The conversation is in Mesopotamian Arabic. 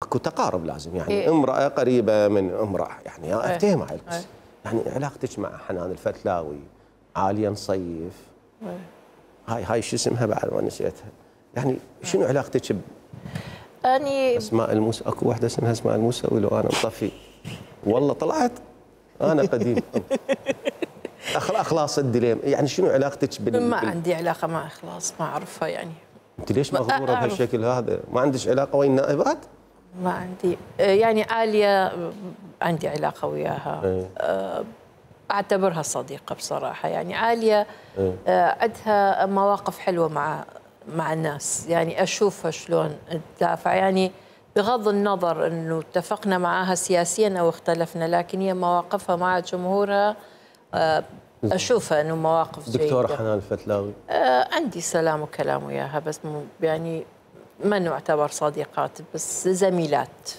اكو تقارب لازم يعني امراه قريبه من امراه يعني افتهم هاي القصه. يعني علاقتك مع حنان الفتلاوي، عاليه نصيف، هاي شو اسمها بعد ما نسيتها، يعني شنو علاقتك اني اسماء الموسى؟ اكو واحده اسمها اسماء الموسوي لو انا مطفي والله طلعت انا قديم. اخلاص الدليم، يعني شنو علاقتك ما عندي علاقه مع اخلاص، ما اعرفها يعني. انت ليش مغروره بهالشكل هذا؟ ما عندك علاقه ويا النائبات؟ ما عندي، يعني عاليه عندي علاقه وياها. اعتبرها صديقه بصراحه، يعني عاليه عندها مواقف حلوه مع الناس، يعني اشوفها شلون تدافع، يعني بغض النظر انه اتفقنا معها سياسيا او اختلفنا، لكن هي مواقفها مع جمهورها اشوفها انه مواقف جيده. دكتوره حنان الفتلاوي عندي سلام وكلام وياها، بس يعني ما نعتبر صديقات، بس زميلات.